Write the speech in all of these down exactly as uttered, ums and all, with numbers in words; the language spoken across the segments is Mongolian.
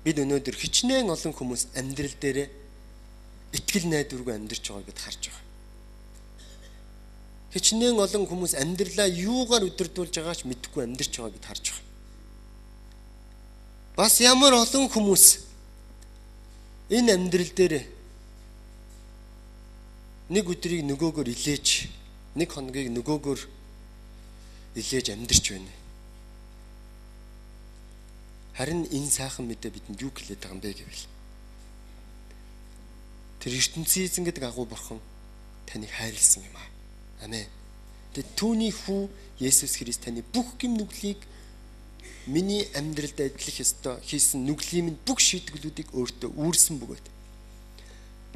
бид өнөөдөр хичнээн олон хүмүүс амьдрал дээр итгэл найдваргүй амьдарч байгааг бид харж байгаа. Хичнээн олон хүмүүс амьдралаа юугаар өдөрдүүлж байгаач мэдэхгүй амьдарч байгааг бид харж байгаа. Бас ямар олон хүмүүс энэ амьдрал дээр нэг өдрийг нөгөөгөөр илээж, нэг хоногийг нөгөөгөөр илээж амьдарч байна. Харин энэ сайхан мэдээ бидэнд юу хэлээд байгаа юм бэ гэвэл тэр ертөнцийн эзэн гэдэг агуу бурхан таныг хайрлсан юм аа. Амен. Тэгээд түүний хүү Есүс Христ таны бүх гэм нүглийг миний амьдралд адилах ёстой хийсэн нүглийн минь бүх шийтгэлүүдийг өөртөө үүрсэн бөгөөд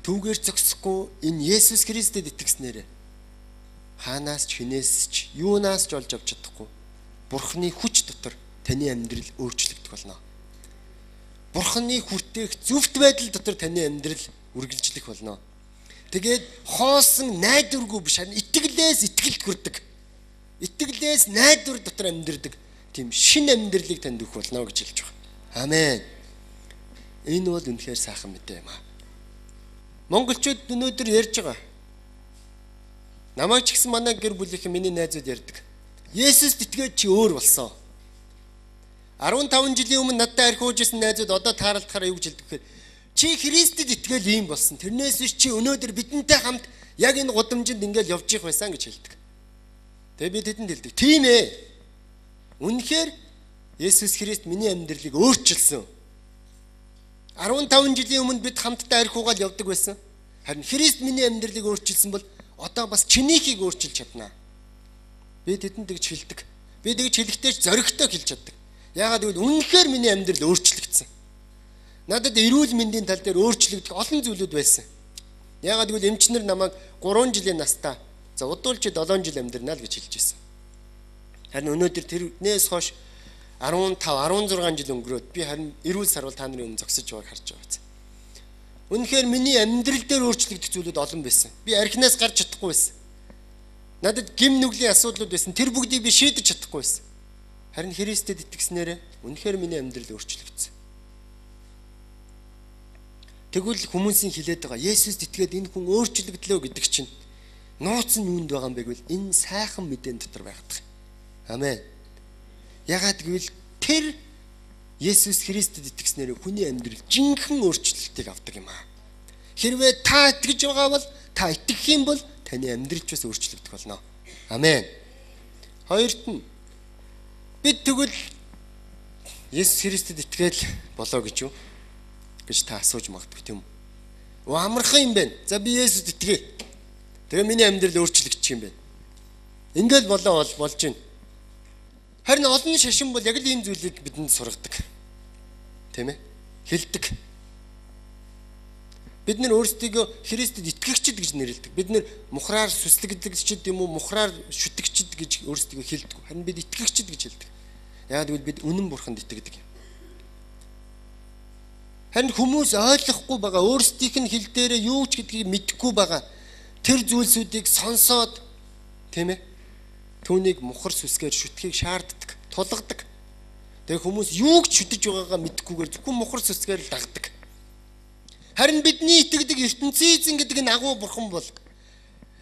түүгээр зогсохгүй энэ Есүс Христэд итгэснээр хаанаас ч хинээс ч юунаас ч олж авч чадахгүй Бурхны хүч дотор таны амьдрал өөрчлөгдөх болно. Бурхны хүртээх зөвхт байдал дотор таны амьдрал үргэлжлэх болно. Тэгээд хоосон найдваргүй биш харин итгэлээс итгэлд хүрдэг. Итгэлээс найдвар дотор амьдрдаг тийм шин амьдралыг танд өгөх болно гэж хэлж байгаа. Амен. Энэ бол үнэхээр сайхан мэдээ юм аа. Монголчууд өнөөдөр ярьж байгаа. Намайг ч гэсэн манай гэр бүлийнхэн миний найзууд ярьдаг. Есүст итгээд чи өөр болсон. арван таван жилийн өмнө надтай архиуж исэн найзууд одоо тааралдахаар юу гэж хэлдэг гэхээр чи Христэд итгээл ийм болсон. Тэрнээс биш чи өнөөдөр бидэнтэй хамт яг энэ гудамжинд ингээл явж их байсан гэж хэлдэг. Тэгээ би тэдэнд хэлдэг. Тийм ээ. Үнэхээр Есүс Христ миний амьдралыг өөрчилсөн. арван таван жилийн өмнө бид хамтдаа архиугаал явдаг байсан. Харин Христ миний амьдралыг өөрчилсөн бол одоо бас чинийхийг өөрчилж чадна. Би тэдэнд тэгж хэлдэг. Би тэгж хэлэхдээ ч зоригтой хэлж чаддаг. Яагаад гэвэл үнэхээр миний амьдрал өөрчлөгдсөн. Надад эрүүл мэндийн тал дээр өөрчлөгдөх олон зүйлүүд байсан. Яагаад гэвэл эмчнэр намайг гурван жилийн настаа за удуулж долоон жил амьдрнаа л гэж хэлж байсан. Харин өнөөдөр тэрнээс хойш арван тав арван зургаан жил өнгөрөөд би харин эрүүл сарвал та нарын өмнө зогсож байгааг харж байгаа. Үнэхээр миний амьдрал дээр өөрчлөгдөх зүйлүүд олон байсан. Би архинаас гарч чадахгүй байсан. Надад гим нүглийн асуудлууд байсан. Тэр бүгдийг би шийдэж чадахгүй байсан. Харин Христэд итгэснээр үнэхээр миний амьдрал өөрчлөгдсөн. Тэгвэл хүмүүсийн хэлээд байгаа Есүст итгээд энэ хүн өөрчлөгдлөө гэдэг чинь нууц нь юунд байгаа юм бэ гэвэл энэ сайхан мэдээний дотор байдаг. Амен. Ягаад гэвэл тэр Есүс Христэд итгэснээр хүний амьдрал жинхэнэ өөрчлөлтийг авдаг юм аа. Хэрвээ та итгэж байгаа бол та итгэх юм бол таны амьдрал ч бас өөрчлөгдөх болно. Амен. Хоёрт нь бид тэгвэл Есүс Христэд итгээл болоо гэж юу гэж та асууж магадгүй тийм үү? Амархан юм байна. За би Есүст итгээ. Тэгээ миний амьдрал өөрчлөгдчих юм байна. Ингээл болоо бол болж байна. Харин олон шашин бол яг л ийм зүйлийг бидэнд сургадаг. Тийм ээ? Хэлдэг. Бид нэр өөрсдийгөө Христэд итгэгчд гэж нэрлэдэг. Бид нэр мухраар сүслэгдэгчд юм уу, мухраар шүтгчд гэж өөрсдийгөө хэлдэг. Харин бид итгэгчд гэж хэлдэг. Яагаад гэвэл бид үнэн бурханд итгэдэг юм. Харин хүмүүс ойлгохгүй байгаа, өөрсдийнх нь хэл дээрээ юу ч гэдгийг мэдэхгүй байгаа. Тэр зүйлсүүдийг сонсоод тийм ээ? Түүнийг мухар сүсгээр шүтгэхийг шаарддаг, тулгадаг. Тэгээ хүмүүс юу ч шүтэж байгаагаа мэдэхгүйгээр зөвхөн мухар сүсгээр л дагдаг. Харин бидний итгэдэг ертөнцийн эзэн гэдэг нь агуу бурхан бол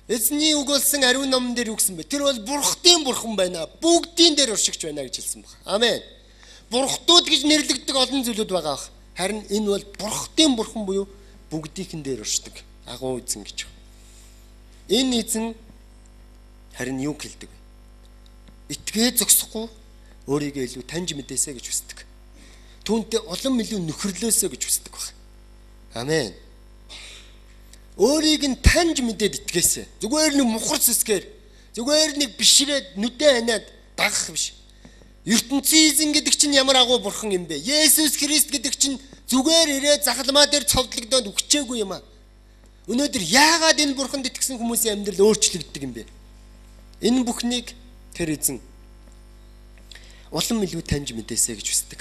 эзний үг болсон ариун номон дээр юу гэсэн бэ? Тэр бол бурхтын бурхан байна. Бүгдийн дээр уршигч байна гэж хэлсэн баг. Амен. Бурхтууд гэж нэрлэгддэг олон зүйлүүд байгаа бах. Харин энэ бол бурхтын бурхан буюу бүгдийнхэн дээр уршдаг агуу эзэн гэж. Энэ эзэн харин юу хэлдэг вэ? Итгээ зогсохгүй өөрийгөө илүү таньж мэдээсэ гэж хүсдэг. Түүнтэй улам илүү нөхөрлөөсөө гэж хүсдэг баг. Амен. Өөрийг нь таньж мэдээд итгээсэ. Зүгээр нэг мухар сүсгээр, зүгээр нэг бишрээд нүдэ ханаад дагах биш. ертөнцийн эзэн гэдэг чинь ямар агуу бурхан юм бэ? Есүс Христ гэдэг чинь зүгээр ирээд захалмаа дээр цовдлогдоод өгчээгүй юм аа. Өнөөдөр яагаад энэ бурханд итгэсэн хүмүүсийн амьдрал өөрчлөгддөг юм бэ? Энэ бүхнийг тэр эзэн улам илүү таньж мэдээсэ гэж хүсдэг.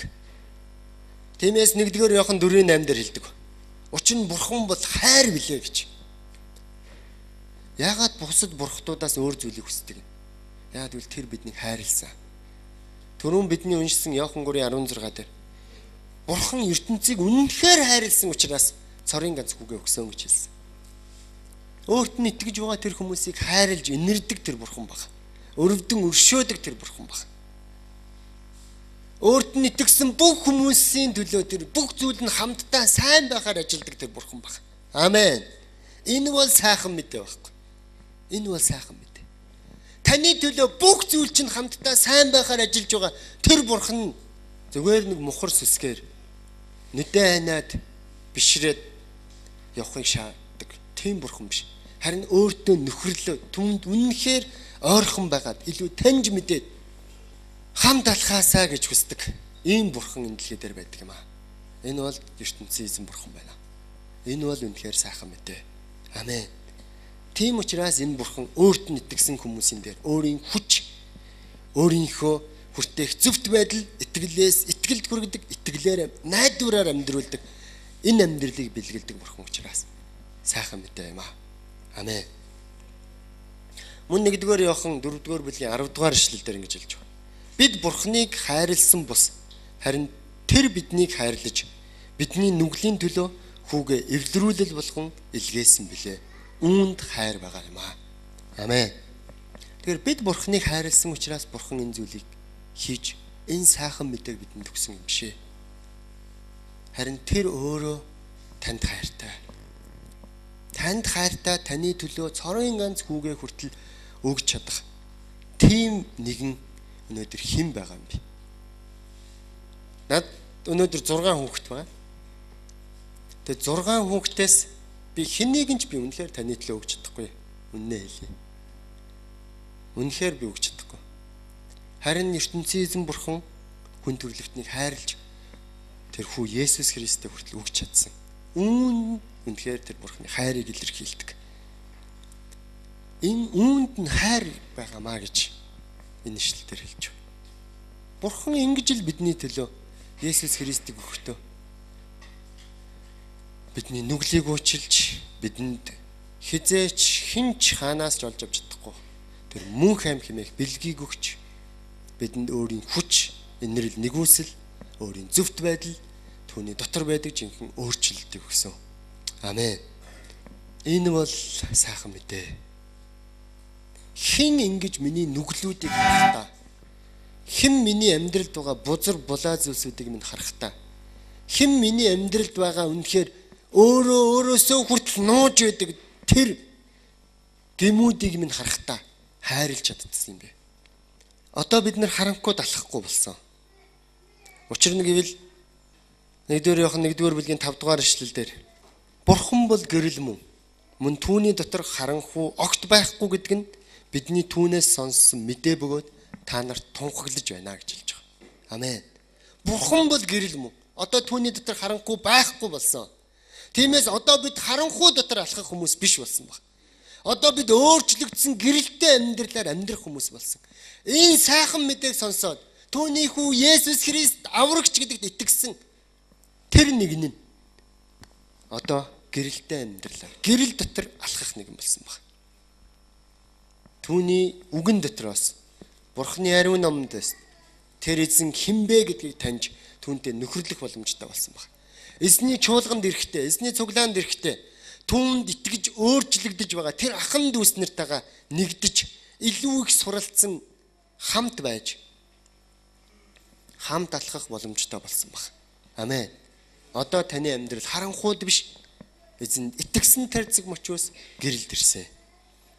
Тиймээс нэгдүгээр Иохан дөрвийн осем дээр хэлдэг. Учир нь бурхан бол хайр билээ гэж. Яагаад бусад бурхтуудаас өөр зүйлийг хүсдэг юм? Яагаад гэвэл тэр биднийг хайрлсан. Түрүүн бидний уншсан Иохан гурван арван зургаа дээр Бурхан ертөнцийг үнэнхээр хайрлсан учраас цорын ганц хүүгээ өгсөн гэж хэлсэн. Өөрт нь итгэж байгаа тэр хүмүүсийг хайрлж инэрдэг тэр бурхан баг. Өрөвдөн өршөөдөг тэр бурхан баг. Өөрт нь итгэсэн бүх хүмүүсийн төлөө тэр бүх зүйл нь хамтдаа сайн байхаар ажилдаг тэр бурхан баг. Амен. Энэ бол сайхан мэдээ байхгүй. Энэ бол сайхан мэдээ. Таны төлөө бүх зүйл чинь хамтдаа сайн байхаар ажиллаж байгаа тэр бурхан зүгээр нэг мухар сүсгээр нүдэ ханаад бишрээд явахыг шаарддаг. Тийм бурхан биш. Харин өөртөө нөхөрлөө түнд үнэнхээр ойрхон байгаад илүү таньж мэдээд хамт алхаасаа гэж хүсдэг. Ийм бурхан энэ дэлхий дээр байдаг юм аа. Энэ бол ертөнцийн эзэн бурхан байна. Энэ бол үнэхээр сайхан мэдээ. Амен. Тийм учраас энэ бурхан өөрт нь итгэсэн хүмүүсийн дээр өөрийн хүч, өөрийнхөө хүртээх зөвхт байдал, итгэлээс итгэлд хүргэдэг, итгэлээр найдвараар амьдруулдаг энэ амьдралыг бэлгэлдэг бурхан учраас сайхан мэдээ юм аа. Амен. Мөн нэгдүгээр Иохан дөрөвдүгээр бүлгийн аравдугаар ишлэл дээр ингэж хэлж байна. Бид бурханыг хайрлсан бус харин тэр биднийг хайрлаж бидний нүглийн төлөө хүүгээ эвлэрүүлэл болгон илгээсэн билээ. Үүнд хайр байгаа юм аа. Амен. Тэгэхээр бид бурханыг хайрлсан учраас бурхан энэ зүйлийг хийж энэ сайхан мэдээг бидэнд өгсөн юм шээ. Харин тэр өөрөө танд хайртай. Танд хайртай таны төлөө цорын ганц хүүгээ хүртэл өгч чадах тийм нэгэн өнөөдөр хэн байгаа юм бэ? Над өнөөдөр зургаан хүүхэд байна. Тэгээ зургаан хүүхдээс би хэнийг нь ч би үнэхээр таны төлөө өгч чадахгүй. Үннээ хэлье. Үнэхээр би өгч чадахгүй. Харин ертөнцийн эзэн бурхан хүн төрлөختнийг хайрлж тэр хүү Есүс Христтэй хүртэл өгч чадсан. Үүн үнэхээр тэр бурханы хайрыг илэрхийлдэг. Энэ үүнд нь хайр байгаамаа гэж энэ ишлэлээр хэлж байна. Бурхан ингэж л бидний төлөө Есүс Христийг өгөхдөө бидний нүглийг уучилж бидэнд хизээч хинч хаанаас ч олж авч чадахгүй тэр мөнх аим хэмээх бэлгийг өгч бидэнд өөрийн хүч, инэрл нэгүсэл, өөрийн зөвхт байдал, түүний дотор байдаг жинхэнэ өөрчлөлтийг өгсөн. Амен. Энэ бол сайхан мэдээ. Хэн ингэж миний нүглүүдийг харахтаа, хэн миний амьдралд байгаа бузар булаа зүйлсүүдийг минь харахтаа, хэн миний амьдралд байгаа үнэхээр өөрөө өөрөөсөө хүртэл нууж байдаг тэр гэмүүдийг минь харахтаа хайрлж чаддсан юм бэ. Одоо бид нар харанхуй далахгүй болсон. Учир нь гэвэл нэгдүгээр Иохан нэгдүгээр бүлгийн тавд дугаар ишлэл дээр бурхан бол гэрэл мөн. Мөн түүний дотор харанхуй огт байхгүй гэдэг нь бидний түүнээс сонссон мэдээ бөгөөд та нарт тунхаглаж байна гэж хэлж байгаа. Амен. Бурхан бол гэрэл мөн. Одоо түүний дотор харанхуй байхгүй болсон. Тиймээс одоо бид харанхуй дотор алхах хүмүүс биш болсон баг. Одоо бид өөрчлөгдсөн гэрэлтэй амьдралаар амьдрах хүмүүс болсон. Энэ сайхан мэдээг сонсоод түүний хүү Есүс Христ аврагч гэдэгт итгэсэн тэр нэгэн нь одоо гэрэлтэй амьдралаар гэрэл дотор алхах нэгэн болсон баг. Түүний үгэн дотроос Бурхны ариун номдоос тэр эзэн хинбэ гэдгийг таньж түүнтэй нөхөрлөх боломжтой болсон баг. Эзний чуулганд ирэхдээ, эзний цуглаанд ирэхдээ түүнд итгэж өөрчлөгдөж байгаа тэр ахан дүүс нартайгаа нэгдэж илүү их суралцсан хамт байж хамт алхах боломжтой болсон баг. Амен. Одоо таны амьдрал харанхууд биш эзэнд итгэсэн тарцэг мочоос гэрэлд ирсэн.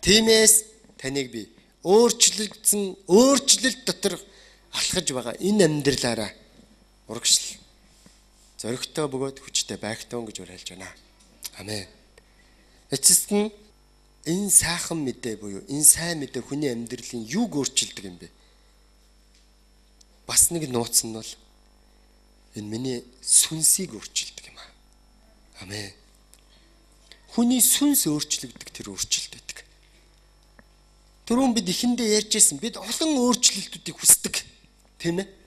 Тиймээс таныг би өөрчлөгдсөн өөрчлөлт дотор алхаж байгаа энэ амьдралаараа урагшил зоригтой бөгөөд хүчтэй байгтун гэж уриалж байна. Амен. Эцэст нь энэ сайхан мэдээ буюу энэ сайн мэдээ хүний амьдралын юуг өөрчилдөг юм бэ? Бас нэг нууц нь бол энэ миний сүнсийг өөрчилдөг юм аа. Амен. Хүний сүнс өөрчлөгдөг тэр өөрчлөлт байдаг. Түрүүн бид ихэндээ ярьжсэн бид олон өөрчлөлтүүдийг хүсдэг. Тийм ээ?